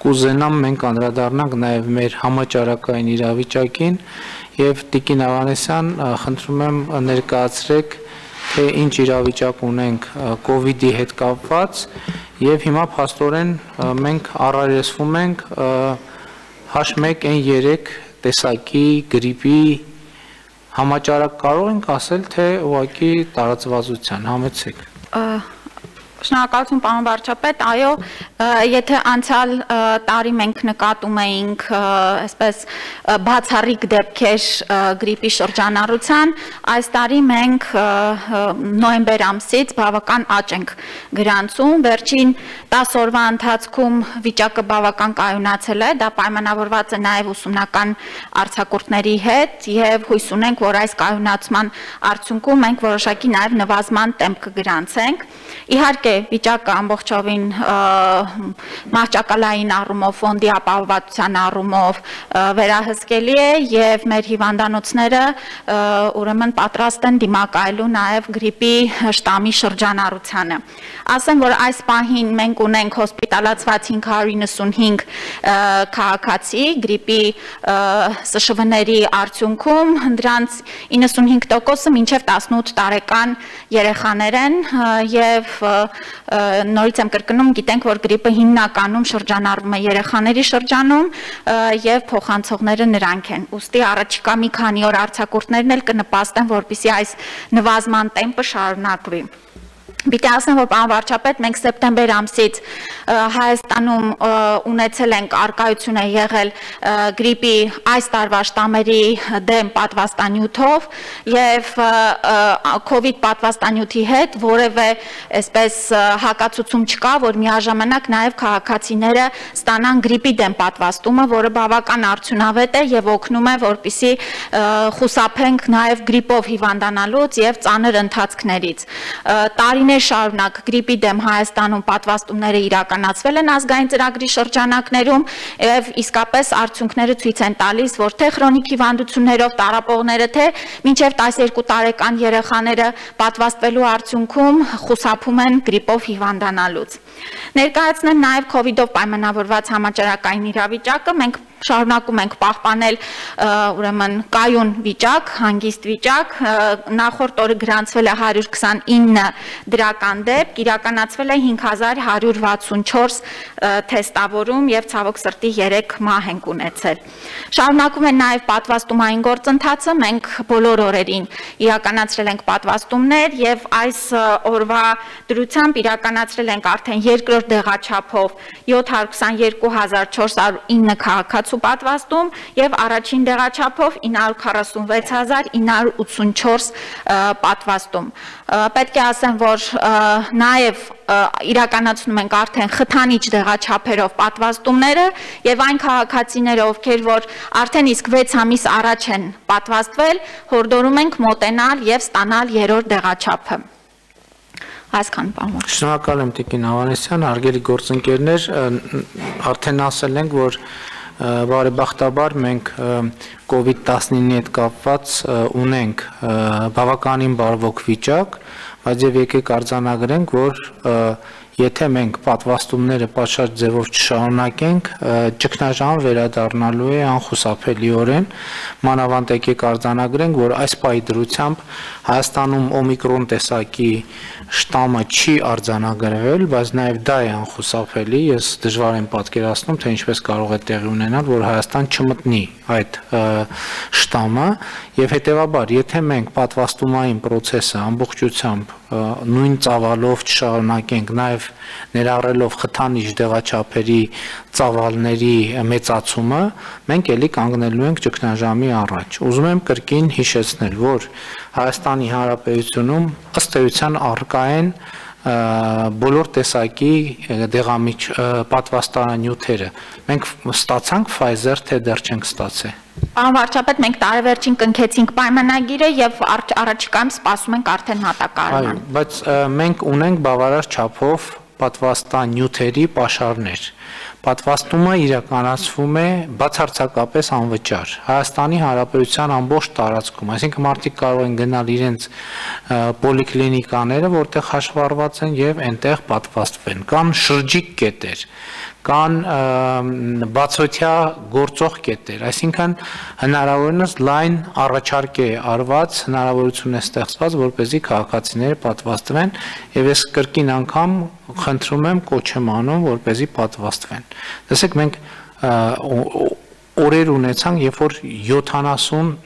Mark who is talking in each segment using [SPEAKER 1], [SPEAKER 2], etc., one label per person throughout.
[SPEAKER 1] կուզենամ մենք անդրադառնանք նաև մեր համաճարակային իրավիճակին եւ Տիկին Ավանեսյան, խնդրում եմ ներկայացրեք, թե ինչ իրավիճակ ունենք COVID-ի հետ կապված եւ հիմա փաստորեն մենք առերեսվում ենք H1N3 տեսակի գրիպի համաճարակ կարող ենք ասել, թե ուղղակի տարածվածության համեցեք։
[SPEAKER 2] Շնորհակալություն պարոն վարչապետ, այո, եթե անցյալ տարի մենք նկատում էինք այսպես բացառիկ դեպքեր գրիպի շրջանառության, այս տարի մենք նոյեմբեր ամսից բավական աճ ենք գրանցում, վերջին 10 օրվա ընթացքում վիճակը բավական կայունացել է, դա պայմանավորված է նաև ուսումնական արձակուրդների հետ եւ հույս ունենք, որ այս կայունացման արդյունքում մենք որոշակի նաև նվազման տեմպ կգրանցենք։ Իհարկե վիճակը ամբողջովին մահճակալային առումով, ֆոնդի ապահովվածության առումով վերահսկելի է եւ մեր հիվանդանոցները ուրեմն պատրաստ են դիմակայելու նաեւ գրիպի շտամի շրջանառությանը։ Ասեմ, որ այս պահին մենք ունենք հոսպիտալացված 595 քաղաքացի գրիպի ՍՇՎ-ների արդյունքում, դրանց 95%-ը մինչև 18 տարեկան երեխաներ են եւ նորից եմ կրկնում, գիտենք, որ գրիպը հիմնականում շրջանառվում է երեխաների շրջանում եւ փոխանցողները նրանք են։ Ուստի առաջիկա մի քանի օր արձակուրդներն էլ կնպաստեն, որպեսզի այս նվազման տեմպը շարունակվի։ Պիտի ասեմ, որ պարոն վարչապետ, մենք սեպտեմբեր ամսից Հայաստանում ունեցել ենք արկայություն է եղել գրիպի այս տարվա շտամերի դեմ պատվաստանյութով եւ COVID պատվաստանյութի հետ որևէ այսպես հակացուցում չկա, որ միաժամանակ նաեւ քաղաքացիները ստանան գրիպի դեմ պատվաստումը, որը բավական արդյունավետ է եւ օգնում է, որպեսզի խուսափենք նաեւ գրիպով հիվանդանալուց եւ ծանր ընթացքներից։ Տարիներ շարունակ գրիպի դեմ Հայաստանում պատվաստումները իրականացվել են ազգային ծրագրի շրջանակներում եւ իսկապես արդյունքները ցույց են տալիս, որ թե քրոնիկ հիվանդություններով տառապողները, թե մինչեւ 12 տարեկան երեխաները պատվաստվելու արդյունքում խուսափում են գրիպով հիվանդանալուց։ Ներկայացնեմ նաեւ COVID-ով պայմանավորված համաճարակային իրավիճակը, մենք շարունակում ենք պահպանել ուրեմն կայուն վիճակ, հանգիստ վիճակ, նախորդ օրը գրանցվել է 129 դրական դեպք, իրականացվել է 5164 թեստավորում եւ ցավոք սրտի 3 մահ ենք ունեցել։ Շարունակում են նաեւ պատվաստումային գործընթացը, մենք բոլոր օրերին իրականացրել ենք պատվաստումներ եւ այս օրվա դրությամբ իրականացրել ենք արդեն երկրորդ դեղաչափով 722409 քաղաքացու պատվաստում եւ առաջին դեղաչափով 946984 պատվաստում։ Պետք է ասեմ, որ նաեւ իրականացնում ենք արդեն խթանիչ դեղաչափերով պատվաստումները եւ այն քաղաքացիները, ովքեր որ արդեն իսկ 6 ամիս առաջ են պատվաստվել, հորդորում ենք մոտենալ եւ ստանալ երրորդ դեղաչափը։ Այսքան բան։
[SPEAKER 1] Շնորհակալ եմ Տիկին Ավանեսյան, հարգելի գործընկերներ, արդեն ասել ենք, որ բարեբախտաբար մենք COVID-19-ի հետ կապված ունենք բավականին բարվոք վիճակ, բայց եւ եկեք արձանագրենք, որ եթե մենք պատվաստումները պատշաճ ձևով չշարունակենք, ճգնաժամ վերադառնալու է անխուսափելիորեն, մանավանդ եկեք արձանագրենք, որ այս պահի դրությամբ Հայաստանում օմիկրոն տեսակի շտամը չի արձանագրվել, բայց նաև դա է անխուսափելի, ես դժվար եմ պատկերացնում, թե ինչպես կարող է տեղի ունենալ, որ Հայաստան չմտնի այդ շտամը, եւ հետեւաբար, եթե մենք պատվաստումային process-ը ամբողջությամբ նույն ծավալով չշարունակենք, նաև ներառելով խթանիչ դեղաչափերի ծավալների մեծացումը, մենք էլի կանգնելու ենք ճգնաժամի առաջ։ Ուզում եմ կրկին հիշեցնել, որ Հայաստանի Հանրապետությունում ըստ էության առկա են բոլոր տեսակի դեղամիջ պատվաստարանյութերը։ Մենք ստացանք Pfizer, թե դեռ չենք ստացել։
[SPEAKER 2] Պարոն վարչապետ, մենք տարեվերջին կնքեցինք պայմանագիրը եւ առաջիկայում սպասում ենք արդեն հատակարարման։
[SPEAKER 1] Այո, բայց մենք ունենք բավարար չափով պատվաստանյութերի պաշարներ։ Պատվաստումը իրականացվում է բացարձակապես անվճար։ Հայաստանի Հանրապետության ամբողջ տարածքում, այսինքն մարդիկ կարող են գնալ իրենց պոլիկլինիկաները, որտեղ հաշվառված են եւ այնտեղ պատվաստվեն։ Կան շրջիկ կետեր, կան բացօթյա գործող կետեր, այսինքն հնարավորինս լայն առաջարկ է արված, հնարավորություն է ստեղծված, որպեսզի քաղաքացիները պատվաստվեն, եւ ես կրկին անգամ խնդրում եմ, կոչ եմ անում, որպեսզի պատվաստվեն։ Տեսեք, մենք օրեր ունեցանք, երբ որ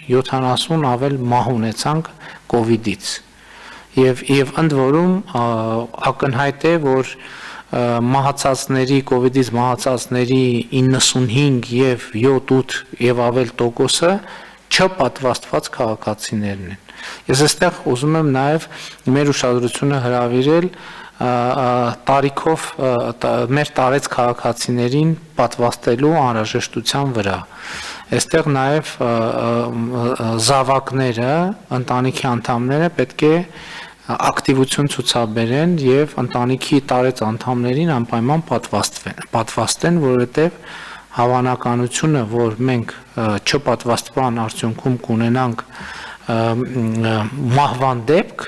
[SPEAKER 1] 70 ավել մահ ունեցանք կովիդից, եւ ընդ որում ակնհայտ է, որ մահացածների, կովիդից մահացածների 95 եւ 7-8 եւ ավել տոկոսը չպատվաստված քաղաքացիներն են։ Ես այստեղ ուզում եմ նաեւ մեր ուշադրությունը հրավիրել տարիքով մեր տարեց քաղաքացիներին պատվաստելու անհրաժեշտության վրա։ Այստեղ նաեւ զավակները, ընտանիքի անդամները պետք է ակտիվություն ցուցաբերեն եւ ընտանիքի տարեց անդամներին անպայման պատվաստեն, որովհետեւ հավանականությունը, որ մենք չպատվաստման արդյունքում կունենանք մահվան դեպք,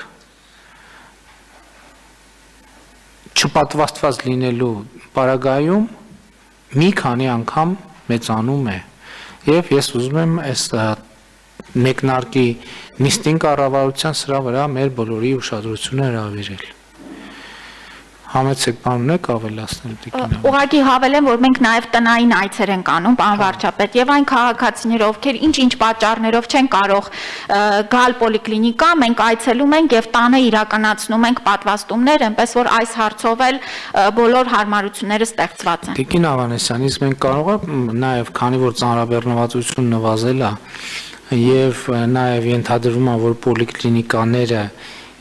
[SPEAKER 1] չպատվաստված լինելու պարագայում մի քանի անգամ մեծանում է եւ ես ուզում եմ այս մեկնարկի նիստին կառավարության սրա վրա մեր բոլորի ուշադրությունը հրավիրել։ Համեցեք բան ունեք ավելացնել Տիկին։
[SPEAKER 2] Ուղղակի հավելեմ, որ մենք նաև տնային այցեր ենք անում, պարոն վարչապետ, եւ այն քաղաքացիները, ովքեր ինչ-ինչ պատճառներով չեն կարող գալ պոլիկլինիկա, մենք այցելում ենք եւ տանը իրականացնում ենք պատվաստումներ, այնպես որ այս հարցով էլ բոլոր հարմարությունները ստեղծված են։
[SPEAKER 1] Տիկին Ավանեսյան, իսկ մենք կարող ենք նաև, քանի որ ծանրաբեռնվածությունն նվազել է եւ նաեւ ենթադրվում է, որ պոլիկլինիկաները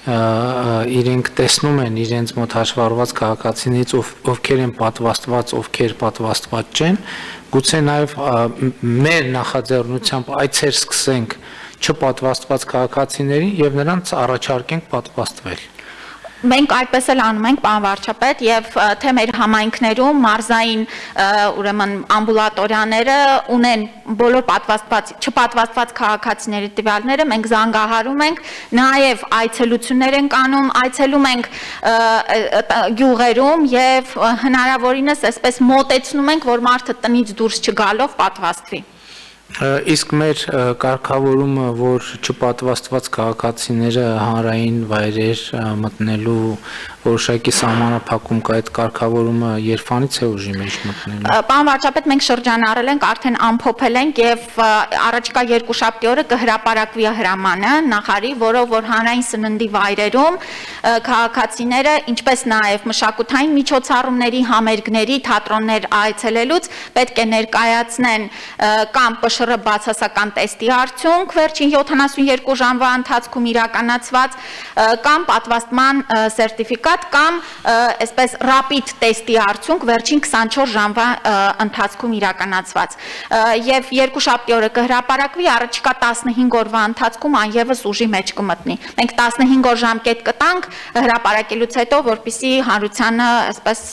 [SPEAKER 1] իրենք տեսնում են իրենց մոտ հաշվառված քաղաքացիներից, ովքեր են պատվաստված, ովքեր պատվաստված չեն, գուցե նաեւ մեր նախաձեռնությամբ այցեր սկսենք չպատվաստված քաղաքացիներին եւ նրանց առաջարկենք պատվաստվել։
[SPEAKER 2] Մենք այդպես էլ անում ենք, պարոն վարչապետ, եւ թե մեր համայնքներում մարզային ուրեմն ամբուլատորիաները ունեն բոլոր չպատվաստված քաղաքացիների տվյալները, մենք զանգահարում ենք, նաեւ այցելություններ ենք անում, այցելում ենք գյուղերում եւ հնարավորինս այսպես մոտեցնում ենք, որ մարդը տնից դուրս չգալով պատվաստվի։
[SPEAKER 1] Իսկ մեր կարգավորումը, որ չպատվաստված քաղաքացիները հանրային վայրեր մտնելու որոշակի սահմանափակում կա, այդ կարգավորումը երբանից է ուժի մեջ մտնելու։
[SPEAKER 2] Պարոն վարչապետ, մենք շրջանառել ենք, արդեն ամփոփել ենք եւ առաջիկա երկուշաբթի օրը կհրապարակվի հրամանը նախարարի, որով որ հանրային սննդի վայրերում քաղաքացիները, ինչպես նաեւ մշակութային միջոցառումների, համերգների, թատրոններ այցելելուց պետք է ներկայացնեն կամ ՊՇՌ բացասական տեստի արդյունք վերջին 72 ժամվա ընթացքում իրականացված կամ պատվաստման սերտիֆիկատ կամ այսպես ռապիդ տեստի արդյունք վերջին 24 ժամվա ընթացքում իրականացված եւ երկուշաբթի օրը կհրապարակվի, առաջիկա 15 օրվա ընթացքում անևս ուժի մեջ կմտնի։ Մենք 15 օր ժամկետ կտանք հրապարակելուց հետո, որպեսզի հանրությանը այսպես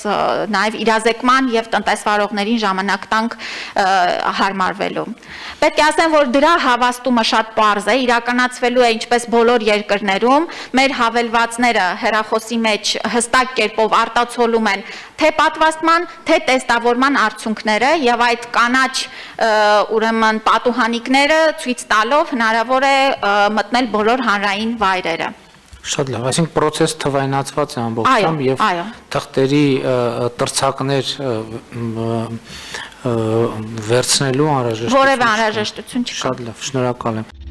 [SPEAKER 2] նաեւ իրազեկման եւ տնտեսվարողներին ժամանակ տանք հարմարվելու։ Պետք է ասեմ, որ դրա հավաստումը շատ պարզ է, իրականացվելու է ինչպես բոլոր երկրներում, մեր հավելվածները հեռախոսի մեջ հստակ կերպով արտացոլում են թե պատվաստման, թե տեստավորման արդյունքները եւ այդ կանաչ ուրեմն պատուհանիկները ցույց տալով հնարավոր է մտնել բոլոր հանրային վայրերը։
[SPEAKER 1] Շատ լավ, այսինքն process թվայնացված է ամբողջությամբ եւ թղթերի տրցակներ վերցնելու անհրաժեշտություն
[SPEAKER 2] որևէ անհրաժեշտություն չկա։
[SPEAKER 1] Շատ լավ, շնորհակալ եմ։